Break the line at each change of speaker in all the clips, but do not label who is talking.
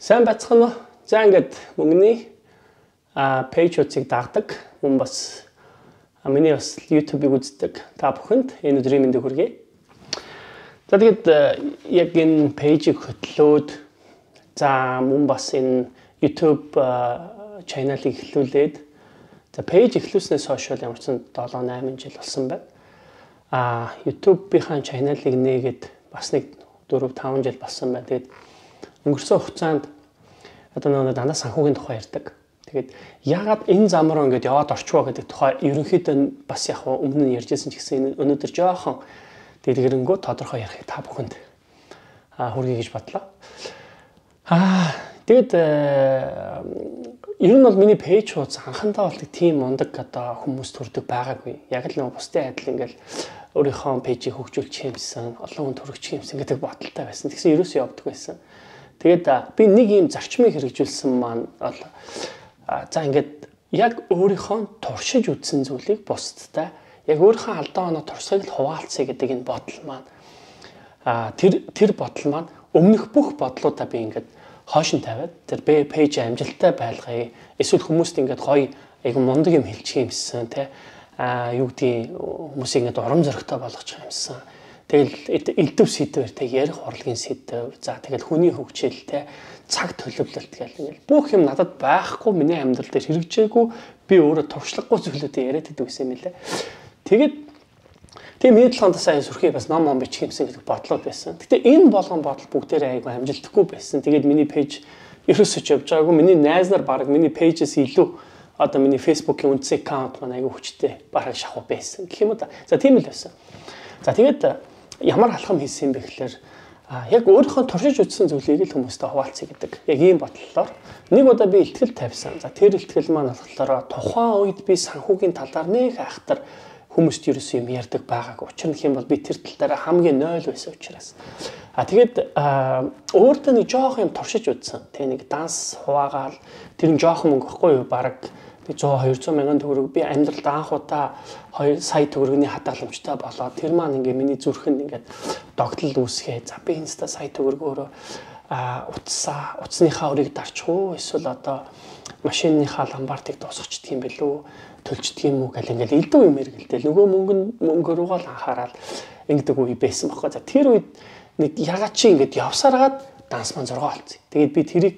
Сайн бацхан уу? За ингээд мөнгөний пэйжүүдийг дагдаг мөн бас миний бас YouTube-ыг үздэг та бүхэнд энэ өдрийн мэндийг хүргэе. За тэгээд яг энэ пэйжийг хөтлөөд за мөн бас энэ YouTube channel-ыг эхлүүлээд за пэйж эхлүүлснээс хойш ямар ч 7-8 жил болсон байна. YouTube-ийн channel-ыг нээгээд бас нэг 4-5 жил болсон байна. Тэгээд өнгөрсөн хугацаанд одоо нэг дандаа санхүүгийн тухай ярьдаг. Тэгээд яагаад энэ зам руу ингэж яваад орчвоо гэдэг тухай ерөнхийдөө бас яг өмнө нь ярьжсэн ч гэсэн өнөөдөр жоохон дэлгэрэнгүй тодорхой ярих та бүхэнд хүргэе гэж бодлоо. Тэгээд ер нь бол миний пэйж хуудас анхандаа бол тийм мундаг одоо хүмүүс төрдөг байгаагүй. Яг л нэг бусдын адил ингээл өөрийнхөө пэйжийг хөгжүүлчих юмсан, олон хүн төрөгчих юмсан гэдэг бодолтой байсан. Тэгсэн ерөөсөө явдаг байсан. Тэгээд би нэг юм зарчмыг хэрэгжүүлсэн маань бол за ингээд яг өөрийнхөө туршиж үзсэн зүйлийг бусдтай яг өөрийнхөө алдаа оноо туршлагыг хуваалцъя гэдэг энэ бодол маань тэр бодол маань өмнөх бүх бодлуудаа би ингээд хойш нь тавиад тэр пэйж амжилттай байлгая. Эсвэл хүмүүст ингээд гоё айгу мундаг юм хэлчих юмсан те юу гэдгийг хүмүүсийг ингээд урам зоригтой болгочих юмсан. Тэгэл элдв сэдвэр те ярих урлагийн сэдв. За тэгэл хүний хөгжил те цаг төлөвлөлт гэл ингээл бүх юм надад байхгүй миний амьдрал дээр хэрэгжээгүй би өөрөө туршлагагүй зүйлүүдээ яриад идэв гэсэн юм лээ. Тэгээд тийм миний талаанд сайн сүрхий бас ном бичих юмсан гэдэг бодлоо байсан. Гэтэ энэ болгон бодол бүгдээрээ айгүй амжилтгүй байсан. Тэгээд миний пэйж ерөөсөж явж байгаагүй. Миний найз нар баг миний пэйжээс илүү одоо миний Facebook-ийн үндсэн аккаунт маань айгүй хүчтэй бараг шахуу байсан гэх юм уу та. За тийм л байсан. За тэгээд ямар алхам хийсэн бэ гэхээр яг өөрийнхөө туршиж үзсэн зүйлийг л хүмүүстэй хуваалцъя гэдэг. Яг ийм бодлолоор нэг удаа би ихтгэл тавьсан. За тэр ихтгэл маань болохоор тухайн үед би санхүүгийн талаар нэг айхтар хүмүүст ерөөсөө юм ярьдаг байгаагүй. Учир нь юм бол би тэр тал дээр хамгийн 0 байсан учраас. Тэгээд өөртөө нэг жоох юм туршиж үзсэн. Тэг нэг данс хуваагаал тэр нь жоох мөнгө ихгүй юу? Бараг 100-200 мянган төгрөг би амьдралд анх удаа 2 сая төгрөгийн хадгаламжтай болоод тэр маань ингээ миний зүрхэнд ингээд догтлол үүсгээ. За би инста сая төгрөгөөрөө утасныхаа өрийг дарчих уу? Эсвэл одоо машиныхаа ламбартыг дуусгачих юм бэлүү? Төлчдөг юм уу гэл ингээл элдв юм эргэлдэл. Нөгөө мөнгө руугаа л анхаарал ингэдэг үе байсан байхгүй. За тэр үед нэг ягаад чи ингээд явсараад данс маань 6 болцсон. Тэгээд би тэрийг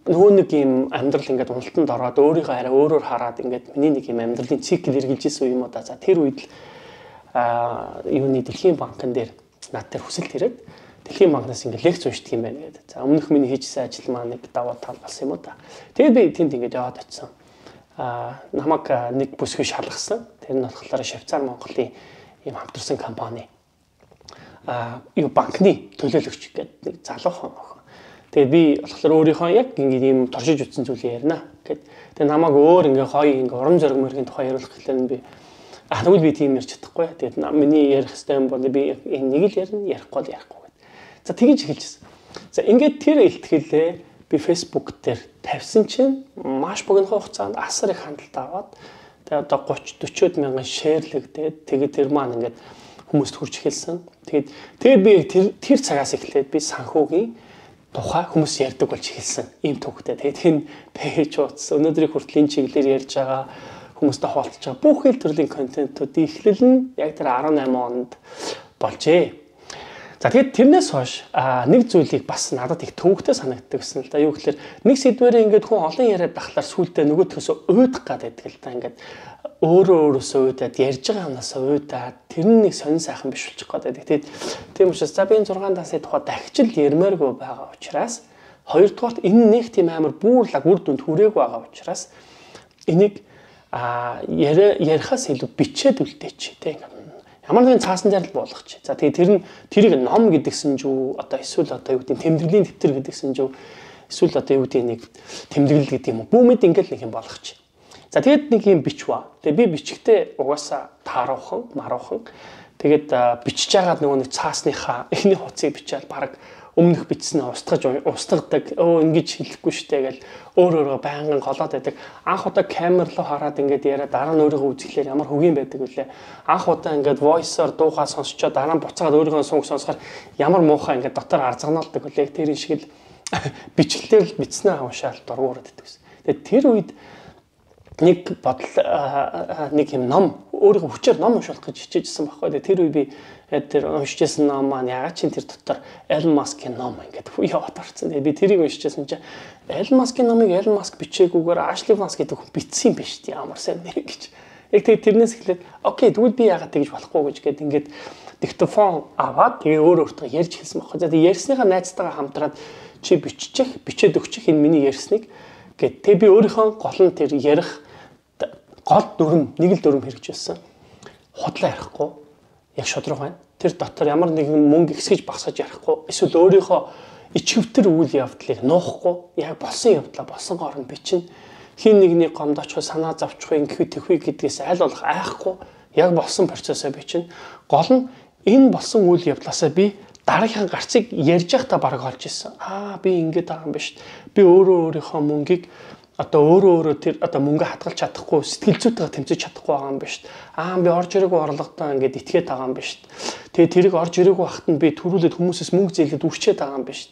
нөгөө нэг юм амьдрал ингээд уналтанд ороод өөрийгөө арай өөрөөр хараад ингээд миний нэг юм амьдралын цикл эргэлжсэн үе юм уу да. За тэр үед л юуны Дэлхийн банкн дээр над дээр хүсэлт ирээд Дэлхийн банкнаас ингээд лекц уншдаг юм байна гэдэг. За өмнөх миний хийжсэн ажил маань нэг даваа тал болсон юм уу да. Тэгээд би тэнд ингээд яваад очсон. Намайг нэг бүсгүй шалгасан. Тэр нь болохоор Швейцар Монголын ийм хамтарсан компани. Юу банкны төлөөлөгч гэдэг нэг залуухан охин. Тэгээд би болохоор өөрийнхөө яг ингээд ийм туршиж үзсэн зүйлээ ярина гэд. Тэгээд намайг өөр ингээд гоё ингээд урам зориг мөргийн тухай яриулах гэхлээр би тэгвэл би тийм ярьж чадахгүй. Тэгээд миний ярих хэвээр юм бол би энэ нэг л ярина, ярихгүй л ярихгүй гэд. За тэгэж эхэлжсэн. За ингээд тэр илтгэлээ би Facebook дээр тавьсан чинь маш богино хугацаанд асар их хандлт аваад тэгээд одоо 30-40 мянган шеэрлэгдээд тэгээд тэр маань ингээд хүмүүст хүрч эхэлсэн. Тэгээд би тэр цагаас эхлээд би санхүүгийн тухай хүмүүс ярьдаг болж эхэлсэн. Ийм төвхтэй. Тэгээд энэ пэйж утас өнөөдрийн хүртэл энэ чиглэлээр ярьж байгаа хүмүүстэй хуваалцаж байгаа бүх хэл төрлийн контентуудын эхлэл нь яг тэр 18 онд болжээ. За тэгээд тэрнээс хойш нэг зүйлийг бас надад их төвөгтэй санагддаг гэсэн л да. Юу гэхээр нэг сэдвэрээ ингээд хүн олон яриад байхлаар сүултээ нөгөөдхөөсөө уйдах гэдэг л да. Ингээд өөрөөсөө уйдаад ярьж байгаа юмнаас уйдаад тэр нь нэг сонин сайхан биш болчих гээд байдаг. Тэгээд тийм учраас за би энэ 6 дасны тухай дахиж л ярмааргүй байгаа учраас хоёрдугаарт энэ нэг тийм амар бүүрлаг үр дүнд хүрээгүй байгаа учраас энийг ярихаас илүү бичээд үлдээч тийм. Ямар нэгэн цаасан дээр л болгоч. За тэгээд тэрийг ном гэдгсэн жүү одоо эсвэл одоо юу гэдэг тэмдэглэлийн дэвтэр гэдгсэн жүү эсвэл одоо юу гэдэг нэг тэмдэглэл гэдэг юм уу. Бүүмэд ингээл нэг юм болгоч. За тэгээд нэг юм бичваа. Тэгээд би бичихтэй угаасаа тааруухан, маруухан. Тэгээд бичиж байгаад нөгөө нэг цаасныхаа эхний хуцыг бичээд баг өмнөх бичснээ устгадаг. Ингэж хэлэхгүй штэ гэл өөрөөрөө байнгын голоод байдаг. Анх удаа камер руу хараад ингээд яриа дараа нь өөрийгөө үзэхлээр ямар хөгийн байдаг вүлээ. Анх удаа ингээд voice-оор дуугаа сонсчоо дараа нь буцаад өөрийнхөө сүнг сонсохоор ямар муухай ингээд дотор арзагнаалдаг вүлээ. Тэр шиг л бичлэлээр л бичснээ уншаал дургуураад иддэг гэсэн. Тэгээд тэр үед нэг бодол нэг юм ном өөрийнхөө хүчээр ном уншуулах гэж хичээжсэн байхгүй. Тэгээд тэр үед би тэр уншижсэн ном маань ягаад ч тэр дотор Elon Musk-ийн ном ингээд яваад орсон. Тэгээд би тэрийг уншижсэн чинь Elon Musk-ийн номыг Elon Musk бичээгүйгээр Ashley Vance гэдэг хүн бичсэн юм биш үү? Ямар сайн нэр гэж. Яг тэгээд тэрнээс эхлээд окей тэгвэл би ягаад тэгж болохгүй гэж гээд ингээд диктофон аваад тэгээ өөртөө ярьж хэлсэн байхгүй. За тэгээд ярьсныхаа найзтайгаа хамтраад чи бичээд өгчих энэ миний ярьсныг гэд. Тэгээ би өөрийнхөө гол нь тэр ярих гол дүрм нэг л дүрм хэрэгжүүлсэн. Худлаа ярихгүй яг шодрог байна. Тэр дотор ямар нэгэн мөнгө ихсгэж багсаж ярихгүй. Эсвэл өөрийнхөө ичвтер үйл явдлыг нуухгүй. Яг болсон явдлаа болсон гоор нь бичнэ. Хин нэгний гомдоочхой санаа завчхой ингэхүй тэхүй гэдгээс аль болох айхгүй. Яг болсон процессоо бичнэ. Гол нь энэ болсон үйл явдлаасаа би дараагийн гарцыг ярьж байхдаа бараг олж ирсэн. Би ингэж байгаа юм биш. Би өөрийнхөө мөнгийг одоо тэр мөнгө хадгалж чадахгүй сэтгэл зүйтэйгээ тэмцэж чадахгүй байгаа юм биш. Би орж ирээгүй орлоготой ингээд итгээд байгаа юм биш. Тэгээ тэрийг орж ирээгүй байхад нь би төрүүлээд хүмүүсээс мөнгө зээлээд үрчээд байгаа юм биш.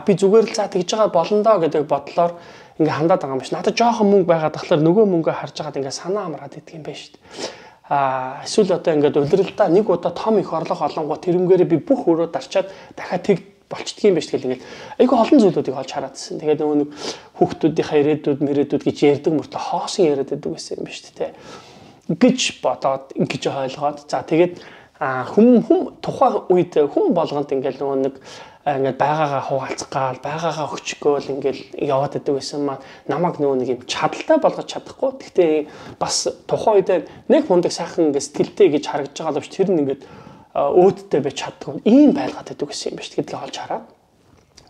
Би зүгээр л за тэгж байгаа болно доо гэдэг бодлоор ингээ хандаад байгаа юм биш. Надад жоохон мөнгө байгаад тахлаар нөгөө мөнгөө харж байгаад ингээ санаа амраад идэх юм биш. Эсвэл одоо ингээд удирдалтаа нэг удаа том их орлого олонгоо тэрнгээрээ би бүх өрөө дарчаад дахиад тэг болчдгийм байж тэгэл ингээд айгүй олон зүйлүүдийг олж хараадсэн. Тэгээд нөгөө нэг хүүхдүүдийнхээ ирээдүйд гэж ярьдаг мөртлөө хоосон яриад байдаг байсан юм биш үү? Гэж бодоод ингэж ойлгоод за тэгээд хүм тухайн үед хүм болгонд ингээд нөгөө нэг ингээд байгаагаа хуваалцах гал байгаагаа өчгөөл ингээд яваад байдаг байсан маань намайг нөгөө нэг юм чадaltaй болгож чадахгүй. Гэхдээ бас тухайн үед нэг мундаг сайхан ингээд сэтгэлтэй гэж харагдж байгаа л биш тэр нь ингээд өөдтэй байж чаддгүй ийм байлгаад байдаг гэсэн юм биш гэдгийг олж хараад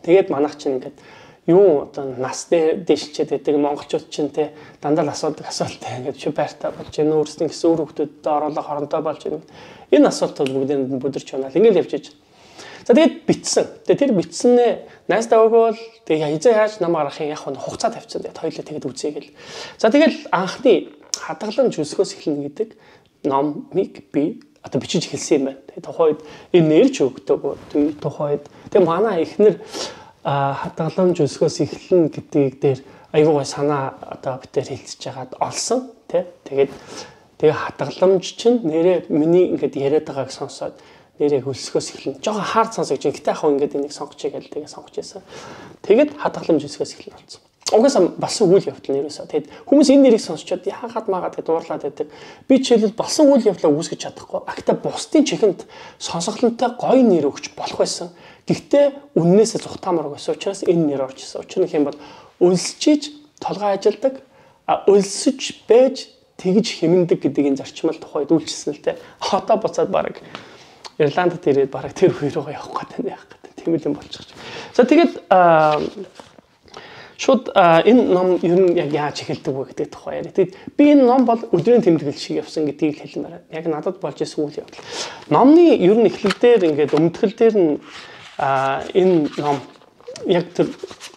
тэгээд манайх чинь ингээд юу одоо нас дэшчээд байдаг монголчууд чинь те дандаа асуудаг асуулттай ингээд чи байртаа болж энэ өөрсдийн гэсэн үр хөвгтөдд оруулах хоронтой болж энэ асуултууд бүгдийг бүдэрч байна л ингээд явж иж. За тэгээд битсэн. Тэгээд тэр битснээ найздаа өгөөл тэгээд хизээ яаж намайг арахын яг хугацаа тавьчихсан. Тэгээд хоёулаа тэгээд үзье гэл. За тэгэл анхны хадгаламж өсгөөс эхэлнэ гэдэг номыг би одоо бичиж эхэлсэн юм байна. Тэгээд тухайн үед энэ нэрч өгдөг. Тухайн үед тэгээд манай эхнэр хадгаламж өсгөөс эхэлнэ гэдгийг дээр айгүй гой санаа одоо битээр хэлцэж хагаад олсон тий. Тэгээд хадгаламж чинь нэрээ миний ингээд яриад байгааг сонсоод нэрээ хөлсгөөс эхэлнэ. Жохоо хаард сонсогч. Гэтэ яг ингээд энийг сонгочихъя гэж тэгээд сонгож байсан. Тэгээд хадгаламж өсгөөс эхэлнэ болсон. Угаасаа болсон үйл явдал нэрээсээ. Тэгэд хүмүүс энэ нэрийг сонсчод яагаад магаад гэдэг дуурлаад байдаг. Би жишээлбэл болсон үйл явдлаа үүсгэж чадахгүй. Гэхдээ бусдын чихэнд сонсголонтой гоё нэр өгч болох байсан. Гэхдээ үннээсээ зүхтаамар байсан учраас энэ нэр орж ирсэн. Учир нь хэм бол өлсчиж толгой ажилдаг, өлсөж байж тэгж хэмндэг гэдэг энэ зарчмал тухайд үйлчилсэн л те. Одоо буцаад баг Ирландд ирээд баг тэр хоёр руу явах гэдэг яах гэдэг. Тийм л юм болчих. За тэгээд шууд энэ ном ер нь яг яаж эхэлдэг вэ гэдэг тухай яриа. Тэгэд би энэ ном бол өдрийн тэмдэглэл шиг явсан гэдгийг хэлмээр. Яг надад болж исэн үйл явдал. Номны ер нь эхлэл дээр ингээд өмтгөл дээр нь энэ ном яг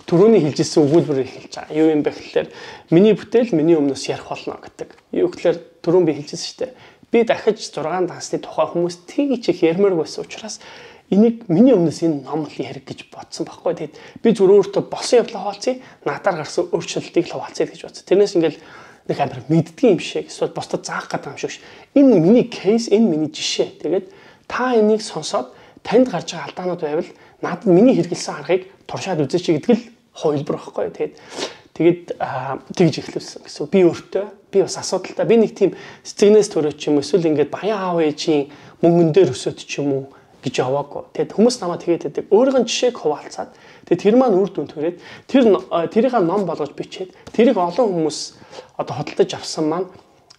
түрүүний хэлжсэн өгүүлбэрээр эхэлж байгаа. Юу юм бэ гэхээр миний бүтээл миний өмнөөс ярих болно гэдэг. Юу гэхээр түрүүн би хэлжсэн шүү дээ. Би дахиж 6 дансны тухай хүмүүс тэгж их ярмаар байсан учраас энийг миний өмнөөс энэ ном л ярих гэж бодсон байхгүй. Тэгэд би зүгээр өөртөө босон явдлаа хуваалцъя, надаар гарсан өөрчлөлтийг л хуваалцъя гэж бодсон. Тэрнээс ингээл нэг амар мэддгийн юм шиг эсвэл бусдад заах гэдэг юм шиг. Энэ миний кейс, энэ миний жишээ. Тэгээд та энийг сонсоод танд гарч байгаа алдаанууд байвал надад миний хэрэгэлсэн аргыг туршаад үзээч гэдэг л хувилбар байхгүй. Тэгээд тэгж эхлүүлсэн гэсэн. Би өөртөө би бас асуудалтай. Би нэг тийм сэтгэнээс төрөөч юм эсвэл ингээд баян аав ээжийн мөнгөн дээр өсөд ч юм уу гэж яваагүй. Тэгэд хүмүүс намайг тэгээд байдаг. Өөрийнх нь жишээг хуваалцаад тэгээд тэр маань үр дүн төрээд тэрийг ном болгож бичээд тэрийг олон хүмүүс одоо хөдөлж авсан маань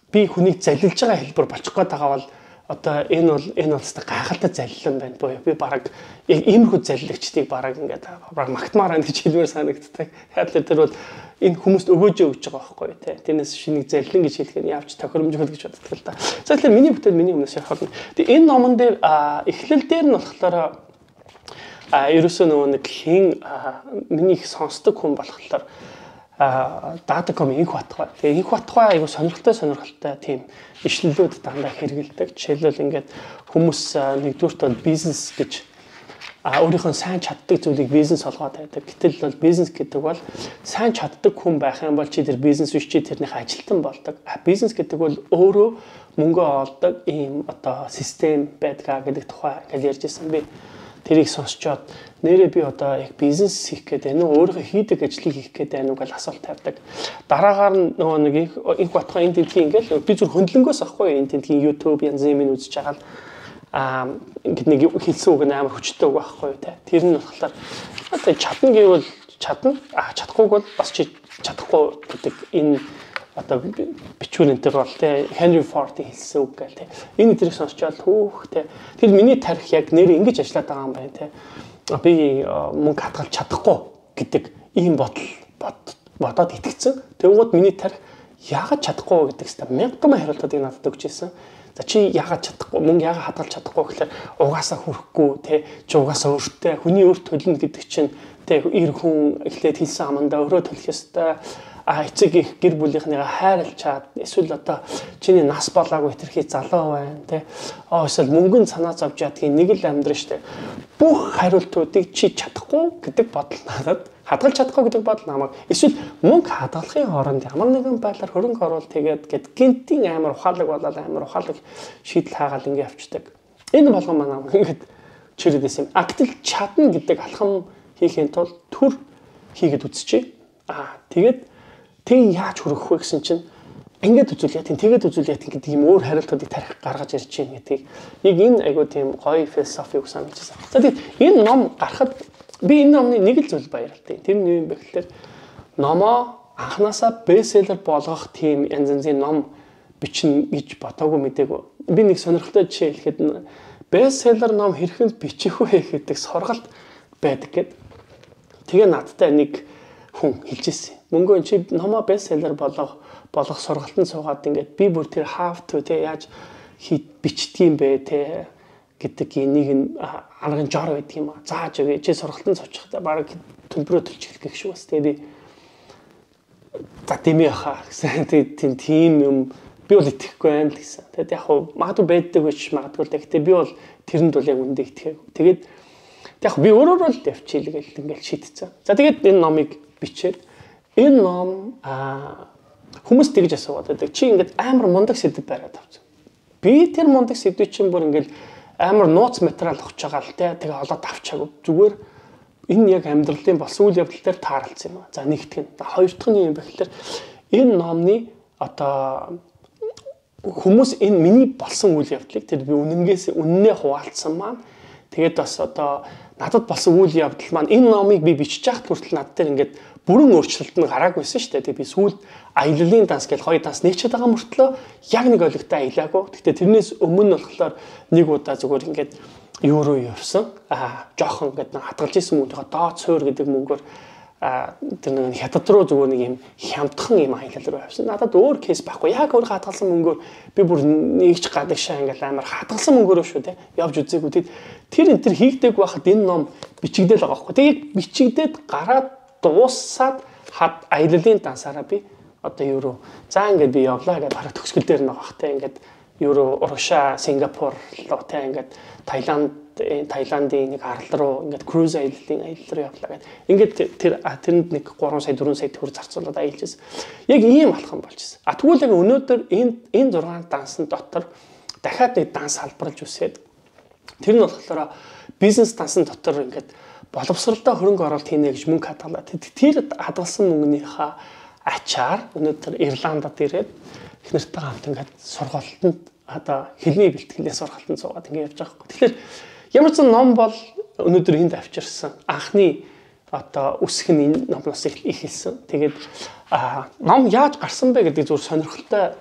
би хүнийг залилж байгаа хэлбэр болчих гээд байгаа бол одоо энэ бол өстой гайхалтай залилан байна буюу би бараг яг иймэрхүү залилагчдыг бараг ингээд бараг магтмаар байна гэж хэлмээр санагддаг. Тэгэхээр тэр бол энэ хүмүүст өгөөж өгч байгаа байхгүй тий. Тэрнээс шинийг залилан гэж хэлэх нь явж тохиромжгүй гэж боддог л да. За тэгэхээр миний бүтээл миний өмнөөс ярих болно. Тэгээ энэ номон дээр эхлэл дээр нь болохоор ерөөсөө нөгөө нэг хин миний их сонсдог хүн болохоор Data.com инх батгай. Тэгээ инх батгай айгу сонирхолтой тийм ишлэлүүд дандаа хэрэгэлдэг. Жишээлбэл ингээд хүмүүс нэгдүгürt бизнес гэж өөрийнхөө сайн чаддаг зүйлийг бизнес олгоод байдаг. Гэтэл бол бизнес гэдэг бол сайн чаддаг хүн байх юм бол чи тэр бизнес биш чи тэрнийх ажилтан болдог. Бизнес гэдэг бол өөрөө мөнгө олдог ийм одоо систем байдгаа гэдэг тухай гэж ярьж ирсэн би. Тэрийг сонсчоод нэрээ би одоо яг бизнес хийх гэдэг нь өөрийнхөө хийдэг ажлыг хийх гэдэг нь үгүй асуулт тавьдаг. Дараагаар нь нөгөө нэг их батхаа энэ тентгийн ингээл би зүр хөндлөнгөөс ахгүй энэ тентгийн YouTube янз бүрийн үзэж байгаа ингээд нэг хэлсэн үг амар хүчтэй үг байхгүй тий. Тэр нь болохоор одоо чадна гэвэл чадна чадахгүйг бол бас чи чадахгүй гэдэг энэ одоо бичвэрнээр бол тий Henry Ford хэлсэн үг гэл тий. Энэ тэрийг сонсчоод түүх тий. Тэр миний тарих яг нэр ингэж ажиллаад байгаа юм байна тий. Би мөнгө хадгалж чадахгүй гэдэг ийм бодоод итгэцэн. Тэгвэл миний тарих яагаад чадахгүй гэдэг чинь мянган хариултуудыг надад өгч ирсэн. За чи яагаад чадахгүй мөнгө яагаад хадгалж чадахгүй гэхээр угаасаа хүрэхгүй тий чи угаасаа өөртөө хүний өөрт төлнө гэдэг чинь тий эр хүн эхлээд хэлсэн амандаа өөрөө төлөх ёстой эцэг их гэр бүлийнхнийгаа хайрлж чад эсвэл одоо чиний нас болоогүй хэтэрхий залуу байна тий эсвэл мөнгөнд санаа зовж ядгийн нэг л амьдрын штэ бүх хариултуудыг чи чадахгүй гэдэг бодол надад хадгалж чадахгүй гэдэг бодол намайг эсвэл мөнгө хадгалахын оронд ямар нэгэн байдлаар хөрөнгө оруулалт хийгээд гэд гинтийн амар ухаалаг болоод амар ухаалаг шийдэл хаагаад ингэ явцдаг. Энэ болгон манай ингээд чирээдсэн юм. Гэтэл чадна гэдэг алхам хийхин тулд төр хийгээд үзчихье. Тэгээд тэг яаж хүрэх вэ гэсэн чинь ингээд үзүүлээ тэгээд үзүүлээ гэдэг юм өөр хариултуудыг тарих гаргаж ирж байна гэдгийг яг энэ айгуу тийм гоё философи үг санагдчихсан. За тэгээд энэ ном гарахад би энэ номны нэг л зүйл баярлалтай. Тэр нь юу юм бэ гэхээр номоо анханасаа бестселлер болгох тийм янз янзын ном бичнэ гэж бодоогүй мэдээгүй. Би нэг сонирхолтой жишээ хэлэхэд бестселлер ном хэрхэн бичих вэ гэдэг сургалт байдаг гэд. Тэгээ надтай нэг хүн хэлж ирсэн. Мөнгөө чи номоо бестселлер болгох сургалтанд суугаад ингээд би бүр тэр how to тэ яаж бичдэг юм бэ тэ гэдэг энийг арган жор байдаг юм аа. Зааж өгөө чи сургалтанд суучихдаа баг төлбөрөө төлчих гэх шиг бас тэ би татими хаа гэсэн тийм юм би бол итгэхгүй байна л гэсэн. Тэгэд яг хуу магадгүй байдаг байж магадгүй л гэхдээ би бол тэрэнд бол яг үндэ итгэв. Тэгээд яг би өөрөө л явчихъя гэл ингээд шийдчихсэн. За тэгээд энэ номыг бичээд энэ ном хүмүүс тэгж асууад байдаг. Чи ингээд амар мундаг сэдв бариад авсан. Би тэр мундаг сэдвийг чинь бүр ингээд амар нууц материал өгч байгаа л те. Тэгээ олоод авчаагүй. Зүгээр энэ яг амьдралын болсон үйл явдал дээр тааралцсан юм аа. За нэгтгэн. Хоёр дахь нь юм бэ гэхээр энэ номны одоо хүмүүс энэ миний болсон үйл явдлыг тэр би үнэнээ хуваалцсан маань тэгээд бас одоо надад болсон үйл явдал маань энэ номыг би бичиж яхад хүртэл над дээр ингээд бүрэн өөрчлөлт нь гараагүйсэн шүү дээ. Тэгээд би сүүлд аяллалын данс гэж хоёр данс нэгчээд байгаа мөртлөө яг нэг ойлгохтой аялаагүй. Гэхдээ тэрнээс өмнө болохоор нэг удаа зүгээр ингээд юу руу явсан. Жохон ингээд хадгалж исэн мөнгөний доод суур гэдэг мөнгөөр тэр нэг хятад руу зүгээр нэг юм хямдхан юм аялал руу явсан. Надад өөр кейс байхгүй. Яг өөр хадгалсан мөнгөөр би бүр нэгч гадагшаа ингээд амар хадгалсан мөнгөөрөө шүү дээ. Явж үзээгүй. Тэр энэ хийгдэг байхад энэ ном бичигдэл байгаа байхгүй. Тэгээд бичигдээд гараад дуусаад аяллалын дансаараа би одоо юу руу за ингээд би явлаа гэдэг бараг төгсгөл дээр нэг багтай ингээд юу руу Руша, Сингапур руу тэ ингээд Таиландын нэг арал руу ингээд круиз аяллалын аялал руу явлаа гэдэг. Ингээд тэрэнд нэг 3 сая 4 сая төгрөг зарцуулаад аялж байсан. Яг ийм алхам болж байсан. Тэгвэл яг өнөөдөр энэ 6 дансын дотор дахиад нэг данс салбарлаж үсээд тэр нь болохоор бизнес дансын дотор ингээд боловсролтой хөрөнгө оруулалт хийнэ гэж мөнгө хадгалаа. Тэр хадгалсан мөнгөнийхөө ачаар өнөөдөр Ирландад ирээд их нартай хамт ингээд сургалтанд одоо хэлний бэлтгэлээ сургалтанд суугаад ингээд явж байгаа хэрэг. Тэгэхээр ямар ч ном бол өнөөдөр энд авчирсан анхны одоо үсэх нь энэ номноос ихэлсэн. Тэгээд ном яаж гарсан бэ гэдэг зүгээр сонирхолтой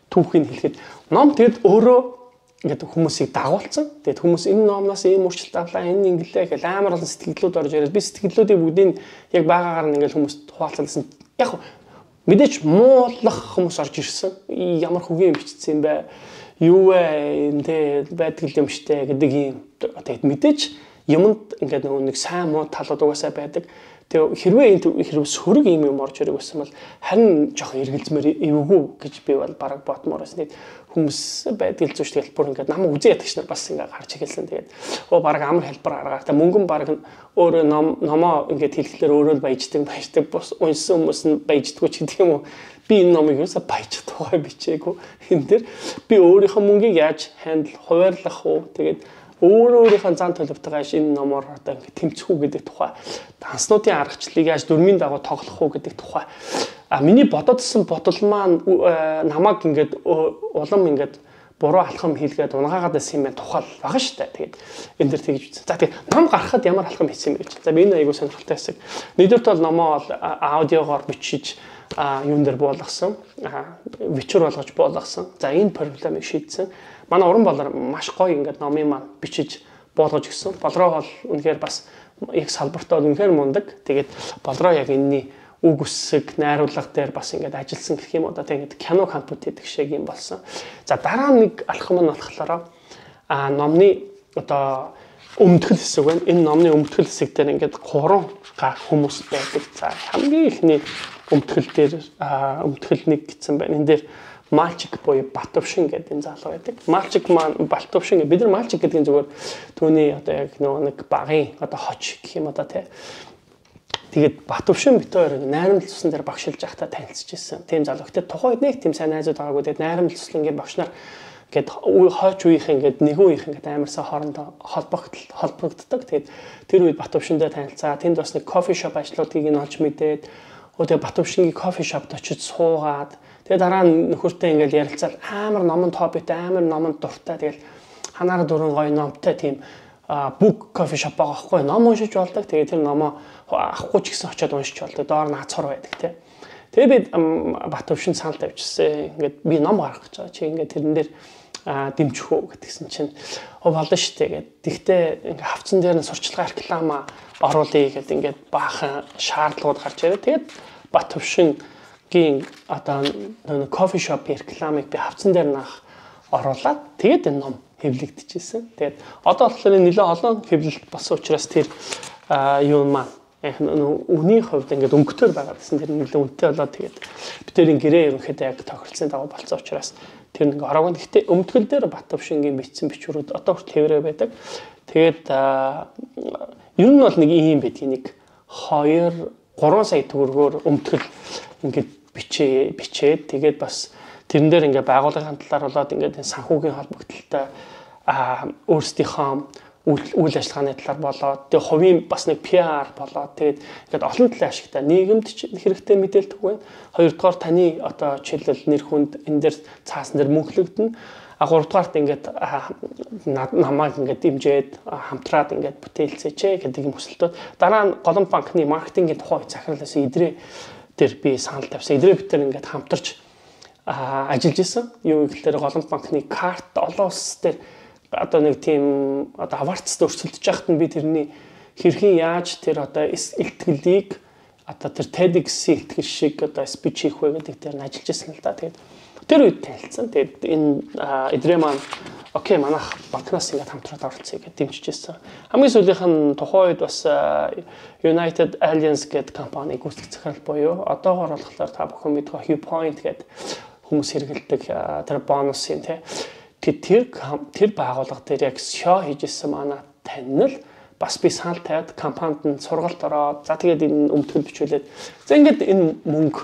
түүхийг хэлэхэд ном тэгэд өөрөө ингээд хүмүүсийг дагуулсан. Тэгээд хүмүүс энэ номноос ийм өөрчлөлт авлаа, энэ инглээ гэж амар олон сэтгэлдлүүд орж ирээд би сэтгэлдлүүдийг бүгдийг яг байгаагаар нь ингээд хүмүүст хуваалцсан. Яг мэдээч муулах хүмүүс орж ирсэн. Ямар хөгийн бичсэн юм бэ? Юу вэ? Энд байдаг юм штэ гэдэг юм. Тэгээд мэдээч юмд ингээд нэг сайн муу талууд угаасаа байдаг. Тэгээ хэрвээ энд хэрвээ сөрөг юм орж ирэх байсан бол харин жоох эргэлзмээр эвгүй гэж би бол бараг бодмоор байсан. Хүмүүс байдаг л зүш тэгэл бүр ингээд намайг үзээ ядагч нар бас ингээд гарч ихэлсэн. Тэгээд бараг амар хэлбэр аргаар. Тэгээ мөнгөн бараг өөрөө номоо ингээд хэлэхлээр өөрөө л баяждаг бос уншсан хүмүүс нь баяждаггүй ч гэдэг юм уу. Би энэ номыг юусаа баяжих тухай бичээгүй. Энэ дэр би өөрийнхөө мөнгийг яаж хандл хуваарлах уу. Тэгээд өөрийнхөө зан төлөвтэйгээ энэ номоор одоо ингээд тэмцэх үү гэдэг тухай, данснуудын аргачлалыг яаж дөрмийн дагуу тоглох уу гэдэг тухай. Миний бододсон бодол маань намайг ингээд улам ингээд буруу алхам хийлгээд унгаагаад байсан юм байна тухай байгаа шүү дээ. Тэгээд энэ дэр тэгж үзсэн. За тэгээд ном гаргахад ямар алхам хийсэн юм бэ гэж. За би энэ айгуу сонирхолтой хэсэг. Нэгдүгürt бол номоо аудиогоор бичиж юун дээр буулгасан, вичур болгож буулгасан. За энэ проблемыг шийдсэн. Манай уран болор маш гоё ингээд номын маань бичиж буулгаж өгсөн. Болроо бол үнэхээр бас яг салбартаа үнэхээр мундаг. Тэгээд болроо яг энэний үг үсэг, найруулга дээр бас ингээд ажилласан гэх юм уу. Одоо тэгээд кино компьютер гэдэг шиг юм болсон. За дараа нэг алхам нь болохоор номны одоо өмтгөл хэсэг байна. Энэ номны өмтгөл хэсэг дээр ингээд 3 хүмүүс байдаг. За хамгийн ихний өмтгөл дээр өмтгөл нэг гэсэн байна. Энэ дээр Мальчик буюу Батөвшин гэдэг энэ залуу байдаг. Мальчик маань Батөвшин бид нар Мальчик гэдэг нь зүгээр түүний одоо яг нэг багын одоо хоч гэх юм одоо тий. Тэгээд Батөвшин бит хоёр найрамдал цусан дээр багшилж байхдаа танилцж ирсэн. Тийм залуу. Гэтэ тухайд нэг тийм сайн найзууд байгаагүй. Тэгээд найрамдал цуслангийн багш нар гээд хойч үеийнх ингээд нэгэн үеийнх ингээд амарсаа хоорондоо холбогддог. Тэгээд тэр үед Батөвшиндээ танилцаа. Тэнд бас нэг кофе шоп ажлуудыг нь олж мэдээд тэгээ Батөвшингийн кофе шопд очиж суугаад тэгээ дараа нь нөхөртэй ингээд ярилцаад амар номон хоббитэй амар номон дуртай. Тэгэл ханаар дөрөн гоё номтой тийм бук кофе шоп байгаа хгүй ном уншиж болдог. Тэгээ тэр номоо авахгүй ч гэсэн очиод уншиж болдог. Доор нь хацхор байдаг тий. Тэгээ би Батөвшин санал тавьчихсан. Ингээд би ном гаргах гэж байгаа. Чи ингээд тэрэн дээр дэмжих үү гэдгсэн чинь болно шүү дээ гэд. Тэгтээ ингээд хавцан дээр нь сурчлагын реклама оруулъя гэд ингээд баахан шаардлагууд гарч ирээ. Тэгээд Батөвшингийн одоо кофе шоп рекламыг би хавцан дээр наах оруулаад тэгээд энэ ном хэвлэгдэжсэн. Тэгээд одоо болохоор нэлээд олон хэвлэлт болсон учраас тэр юу маань үний хувьд ингээд өнгөтөр байгаа гэсэн тэр нэлээд үнэтэй болоод тэгээд битэрийн гэрээ ерөнхийдөө яг тохиролцсон дагуу болсон учраас тэр нэг ороог нь гэхдээ өмтгөл дээр Батөвшингийн бичсэн бичвэрүүд одоо хүртэл хэврээ байдаг. Тэгээд ер нь бол нэг ийм байдгийг нэг 2-3 сая төгрөгөөр өмтгөл ингээд бичээд тэгээд бас тэрэн дээр ингээд байгууллагын талаар болоод ингээд санхүүгийн холбогдлолтой өөрсдийнхөө үйл ажиллагааны талаар болоод тэгээ хувийн бас нэг PR болоод тэгээд ингээд олон талын ашигтай нийгэмд хэрэгтэй мэдээлэл түгэн. Хоёрдугаар таны одоо жишээлбэл нэр хүнд энэ дээр цаасан дээр мөнхлөгдөн. Гуравдугаарт ингээд намайг ингээд дэмжиж хамтраад ингээд бүтээлцээч гэдэг юм хүсэлтүүд. Дараа нь Голомт банкны маркетингийн тухай захирлаас идрээ дээр би санал тавьсан. Идрээ бид нар ингээд хамтарч ажиллаж исэн. Юу гэхээр Голомт банкны карт олон улс дээр одоо нэг тийм одоо аварцд өрсөлдөж яхад нь би тэрний хэрхэн яаж тэр одоо илтгэлийг одоо тэр TEDx-ийн илтгэл шиг одоо спич хийх вэ гэдэг дээр нь ажиллаж исэн л да. Тэгээд тэр үед танилцсан. Тэгээд энэ эдрээ маань окей манайх банкнаас ингээд хамтраад оролцъё гэж дэмжижсэн. Хамгийн сүүлийнх нь тухайн үед бас United Alliance гэдэг компани гүйцэтгэх захирал буюу одоогоор болохоор та бүхэн мэдэх Hue Point гэдэг хүмүүс хэрэгэлдэг тэр бонусын тэр байгууллага дээр яг шоу хийжсэн манай танил бас би санал тавиад компанид нь сургалт ороод за тэгээд энэ өмтгөл бичүүлээд за ингээд энэ мөнгө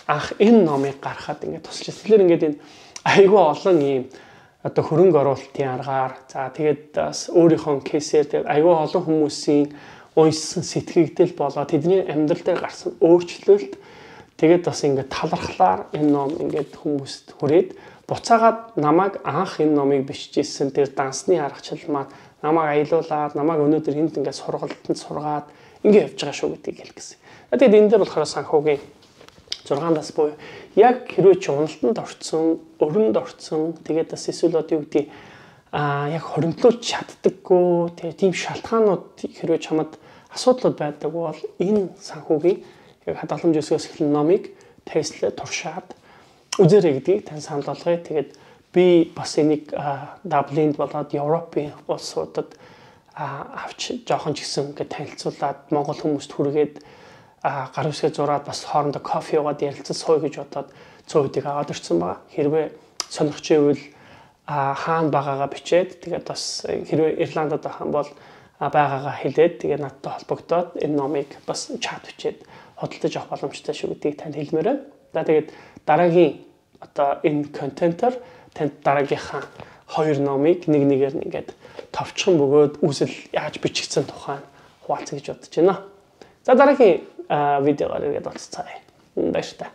анх энэ номыг гаргахад ингээд тусалж байсан. Тэгэхээр ингээд энэ айгүй олон ийм одоо хөрөнгө оруулалтын аргаар за тэгээд бас өөрийнхөө кейсээр тэгээд айгүй олон хүмүүсийн уншсан сэтгэгдэл болоод тэдний амьдрал дээр гарсан өөрчлөлт тэгээд бас ингээд талархлаар энэ ном ингээд хүмүүст хүрээд буцаагаад намайг анх энэ номыг бичижсэн тэр дансны аргачлал маань намайг аялуулад намайг өнөөдөр энд ингээд сургалтанд сургаад ингээд явж байгаа шүү гэдгийг хэлгэсэн. Тэгээд энэ дээр болохоор санхүүгийн 6-аас буюу яг хэрвээ чи уналтанд орцсон, өрөнд орцсон тэгээд бас эсвэл одоо юу гэдэг яг хоримтлуулж чаддаггүй тийм шалтгаанууд хэрвээ чамд асуудлууд байдаг бол энэ санхүүгийн яг хадгаламж өсгөөс эхлэн номыг тестлээ туршаад үзээрэй гэдгийг тань санал болгоё. Тэгээд би бас энийг Даблинд болоод Европын улсуудад авч жоохон ч гэсэн ингээд танилцуулаад Монгол хүмүүст хүргээд гар үсгээ зураад бас хоорондоо кофе уугаад ярилцаж сууя гэж бодоод цөөхүүдийг аваад ирсэн байгаа. Хэрвээ сонирхч ивэл хаана байгаагаа бичээд тэгээд бас хэрвээ Ирландд хаан бол байгаагаа хэлээд тэгээд надтай холбогдоод энэ номыг бас чат бичээд худалдаж авах боломжтой шүү гэдгийг танд хэлмээр байна. За тэгээд дараагийн одоо энэ контентоор танд дараагийнхаа 2 номыг нэг нэгээр нь ингээд товчхон бөгөөд үсэл яаж бичигдсэн тухай хуваалцах гэж бодож байна. За дараагийн видеогоор ирээд уулзцаая. Баярлалаа.